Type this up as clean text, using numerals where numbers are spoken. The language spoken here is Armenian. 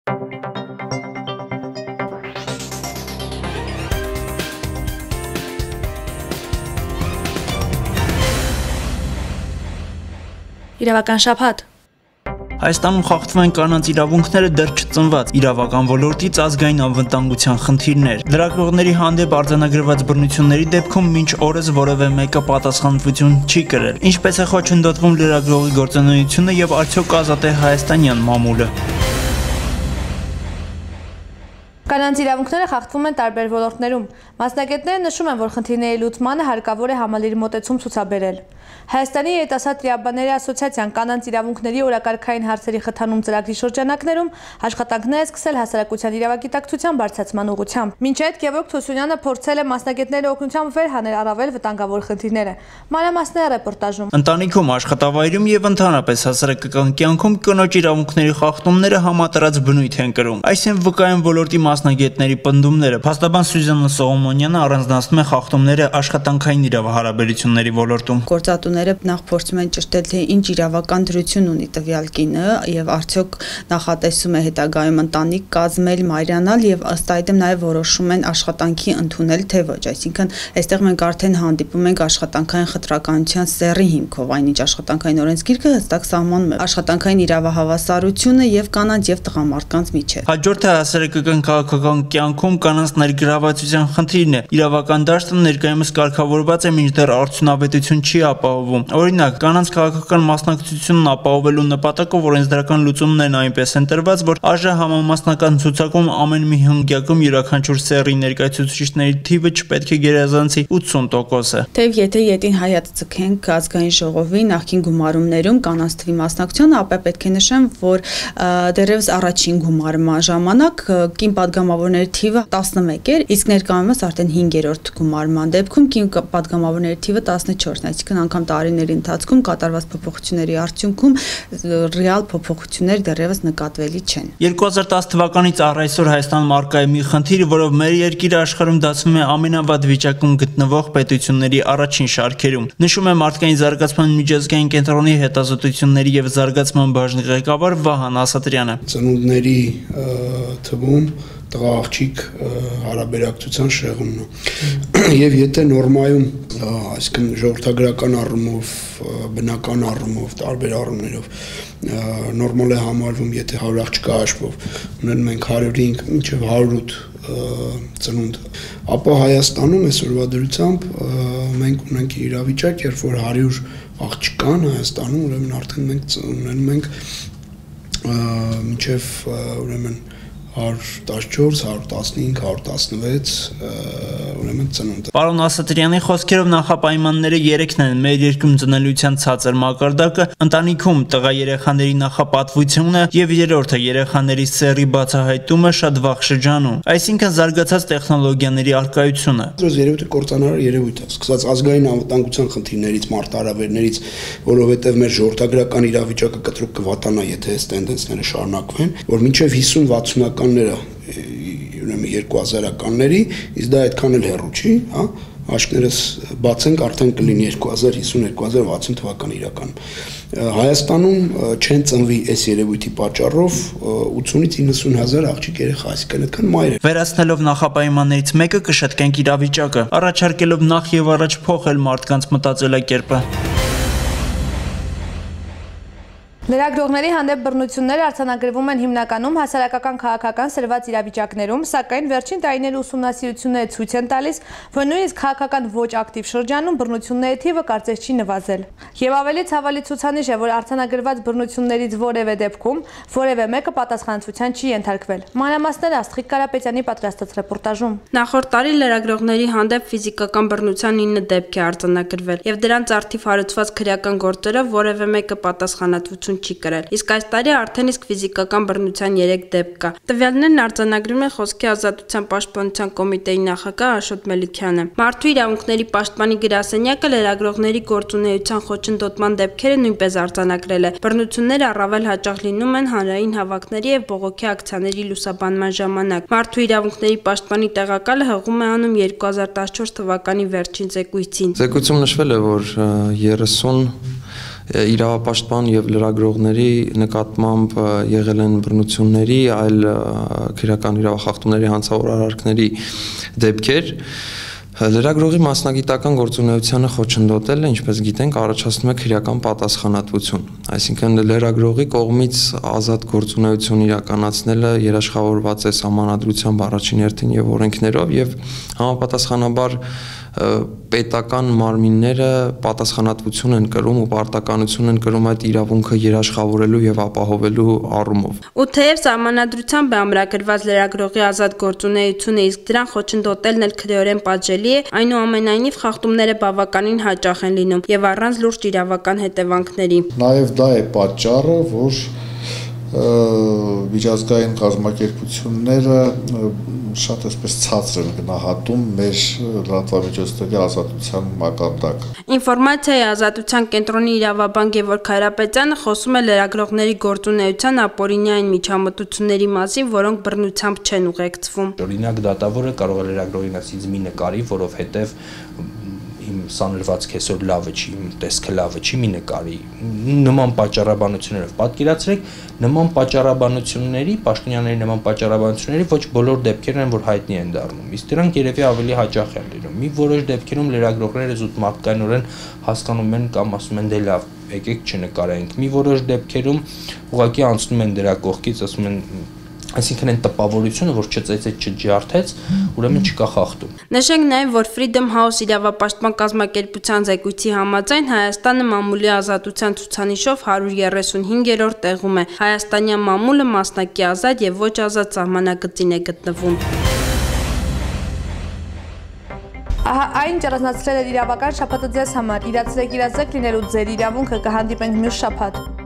Իրավական շաբաթ։ Հայաստանում խախտվում են կանանց իրավունքները դեռ չծնված իրավական ոլորտից ազգային անվտանգության խնդիրներ։ Լրագրողների հանդեպ արձանագրված բռնությունների դեպքում մինչ օրս որևէ մեկը պատասխանատվություն չի կրել։ Ինչպես է խոչընդոտվում լրագրողի գործունեությունը եւ արդյոք ազատ է հայաստանյան մամուլը։ Կանանց իրավունքները խախտվում են տարբեր ոլորտներում։ Մասնագետները նշում են, որ խնդիրների լուծմանը հարկավոր է համալիր մոտեցում ցուցաբերել։ Հայաստանի երիտասարդ տիրաբանների ասոցիացիան կանանց իրավունքների օրակարգային հարցերի խթանում ծրագրի շրջանակներում աշխատանքներ է սկսել հասարակության իրավագիտակցության բարձրացման ուղղությամբ։ Մինչ այդ Գևորգ Թուսունյանը փորձել է մասնագետների օգնությամբ վեր հանել առավել վտանգավոր խնդիրները։ Մանրամասները ռեպորտաժում։ Ընտանիքում, աշխատավայրում եւ ընդհանրապես հասարակական կյանքում կնոջ իրավունքների խախտումները համատարած բնույթ են կրում։ Այսինքն վկայում ոլորտի մասնագետների պնդումները։ Փաստաբան Սյուզաննա Սողոմոնյանը առանձնացնում է խախտումները աշխատանքային իրավահարաբերությունների ոլորտում։ Գործատուները նախ փորձում են ճշտել, թե ինչ իրավական դրություն ունի տվյալ կինը եւ արդյոք նախատեսում է հետագայում ընտանիք կազմել, մայրանալ եւ ըստ այդմ նաեւ որոշում են աշխատանքի ընդունել թե ոչ։ Այսինքն այստեղ մենք արդեն հանդիպում ենք աշխատանքային խտրականության սեռի հիմքով, այնինչ աշխատանքային օրենսգիրքը հստակ սահմանում է աշխատանքային իրավահավասարությունը եւ կանանց եւ տղամարդկանց միջեւ։ Հաջորդը հասարակական քաղաքական կյանքում կանանց ներգրավվածության խնդիրն է։ Իրավական դաշտը ներկայումս կարգավորված է, մինչդեռ արդյունավետություն չի ապահովում։ Օրինակ, կանանց քաղաքական մասնակցությունն ապահովելու նպատակով օրենսդրական լուծումներն այնպես են տրված, որ ԱԺ համամասնական ցուցակում ամեն մի հնգյակում յուրաքանչյուր սեռի ներկայացուցիչների թիվը չպետք է գերազանցի 80%-ը։ Թեև եթե ետին հայաց ցկենք ազգային ժողովի նախկին գումարումներում կանանց թվի մասնակցությունը, ապա պետք է նշեմ, որ դեռևս առաջին գումարման ժամանակ կին падգամավորների թիվը 11 էր, իսկ ներկայումս արդեն 5-րդ գումարման դեպքում կին падգամավորների թիվը 14-ն է, այսինքն անգամ տարիների ընթացքում կատարված փոփոխությունների արդյունքում ռեալ փոփոխություններ դեռևս նկատվելի չեն։ 2010 թվականից առ այսօր Հայաստանում առկա է մի խնդիր, որով մեր երկիրը աշխարհում դասվում է ամենավատ վիճակում գտնվող պետությունների առաջին շարքերում։ Նշում է Մարդկային զարգացման միջազգային կենտրոնի հետազոտությունների եւ զարգացման բաժնի ղեկավար Վահան Ասատրյանը։ Ծնունդների թվում տղա աղջիկ հարաբերակցության շեղումն է։ Եվ եթե նորմայում, այսինքն ժողովրդագրական առումով, բնական առումով, տարբեր առումներով նորմալ է համարվում, եթե 100 աղջկա հաշվով ունենում ենք 105 մինչև 108 ծնունդ, ապա Հայաստանում այսօրվա դրությամբ մենք ունենք իրավիճակ, երբ որ 100 աղջկան Հայաստանում ուրեմն արդեն մենք ունենում ենք մինչև ուրեմն 114, 115, 116 ուրեմն ծնունդ։ Պարոն Ասատրյանի խոսքերով նախապայմանները 3-ն են՝ մեր երկրում ծնելիության ցածր մակարդակը, ընտանիքում տղա երեխաների նախապատվությունը եւ երրորդը երեխաների սեռի բացահայտումը շատ վաղ շրջանում, այսինքն զարգացած տեխնոլոգիաների առկայությունը։ Այս երևույթը կործանարար երևույթ է, սկսած ազգային անվտանգության խնդիրներից, մարտահրավերներից, որովհետեւ մեր ժողովրդագրական իրավիճակը կտրուկ կվատանա, եթե այս տենդենսները շարունակվեն, որ մինչեւ 50-60-ականները ուրեմն 2000-ականների, իսկ դա այդքան էլ հեռու չի, հա, աշկներս բացենք արդեն կլինի 2050-2060 թվական իրականում։ Հայաստանում չեն ծնվի այս երևույթի պատճառով 80-ից 90 հազար աղջիկ երեխա, այսինքն այդքան մայր է։ Վերացնելով նախապայմաններից մեկը կշտկենք իրավիճակը, առաջարկելով նախ եւ առաջ փոխել մարդկանց մտածելակերպը։ Լրագրողների հանդեպ բռնությունները արձանագրվում են հիմնականում հասարակական քաղաքական սրված իրավիճակներում, սակայն վերջին տարիների ուսումնասիրությունները ցույց են տալիս, որ նույնիսկ քաղաքական ոչ ակտիվ շրջանում բռնությունների թիվը կարծես չի նվազել։ Եվ ավելի ցավալի ցուցանիշ է, որ արձանագրված բռնություններից որևէ դեպքում որևէ մեկը պատասխանատվության չի ենթարկվել։ Մանրամասները Աստղիկ Կարապետյանի պատրաստած ռեպորտաժում։ Նախորդ տարի լրագրողների հանդեպ ֆիզիկական բռնության 9 դեպք է արձանագրվել, եւ դրանց արդիվ հարուցված քրեական գործերով որևէ մեկը պատասխանատվություն չի կրել, իսկ այս տարի արդեն իսկ ֆիզիկական բռնության 3 դեպք կա։ Տվյալներն արձանագրում է Խոսքի ազատության պաշտպանության կոմիտեի նախագահ Աշոտ Մելիքյանը։ Մարդու իրավունքների պաշտպանի գրասենյակը լրագրողների գործունեության խոչընդոտման դեպքերը նույնպես արձանագրել է։ Բռնությունները առավել հաճախ լինում են հանրային հավաքների եւ բողոքի ակցիաների լուսաբանման ժամանակ։ Մարդու իրավունքների պաշտպանի տեղակալը հղում է անում 2014 թվականի վերջին զեկույցին։ Զեկույցում նշվել է, որ 30 իրավապաշտպան եւ լրագրողների նկատմամբ եղել են բռնությունների, այլ քրեական իրավախախտումների հանցավոր արարքների դեպքեր։ Լրագրողի մասնագիտական գործունեությանը խոչընդոտելը, ինչպես գիտենք, առաջացնում է քրեական պատասխանատվություն։ Այսինքն լրագրողի կողմից ազատ գործունեություն իրականացնելը երաշխավորված է սահմանադրությամբ առաջին հերթին եւ օրենքներով եւ համապատասխանաբար պետական մարմինները պատասխանատվություն են կրում ու պարտականություն են կրում այդ իրավունքը երաշխավորելու եւ ապահովելու առումով։ Ու թեև սահմանադրությամբ է ամրագրված լրագրողի ազատ գործունեությունը, իսկ դրան խոչընդոտելն էլ քրեորեն պատժելի է, այնուամենայնիվ խախտումները բավականին հաճախ են լինում եւ առանց լուրջ իրավական հետևանքների։ Նաեւ դա է պատճառը, որ միջազգային կազմակերպությունները շատ այսպես ցածր են գնահատում մեր լրատվամիջոցների ազատության մակարդակը։ Ինֆորմացիայի ազատության կենտրոնի իրավաբան Գևորգ Քայրապետյանը խոսում է լրագրողների գործունեության ապօրինային միջամտությունների մասին, որոնք բռնությամբ չեն ուղեկցվում։ Օրինակ դատավորը կարող է լրագրողին ասից մի նկարի, որովհետև իմ սանրվածք այսօր լավը չի, իմ տեսքը լավը չի, մի նկարի։ Նման պատճառաբանություններով պատկերացրեք, նման պատճառաբանությունների, պաշտոնյաների նման պատճառաբանությունների ոչ բոլոր դեպքերն են, որ հայտնի են դառնում։ Իսկ դրանք երևի ավելի հաճախ են լինում։ Մի որոշ դեպքերում լրագրողները զուտ մարդկայնորեն հասկանում են կամ ասում են դե լավ, եկեք չնկարենք։ Մի որոշ դեպքերում ուղղակի անցնում են դրա կողքից, ասում են այսինքն այն տպավորությունը, որ չծեծեց, չջարդեց, ուրեմն չկա խախտում։ Նշենք նաև, որ Freedom House իրավապաշտպան կազմակերպության զեկույցի համաձայն Հայաստանը մամուլի ազատության ցուցանիշով 135-րդ տեղում է։ Հայաստանյան մամուլը մասնակի ազատ եւ ոչ ազատ սահմանագծին է գտնվում։ Ահա այն ճանաչել էր իրավական շաբաթը ձեզ համար։ Իրացրեք իրազեկ լինելու ձեր իրավունքը, կհանդիպենք մյուս շաբաթ։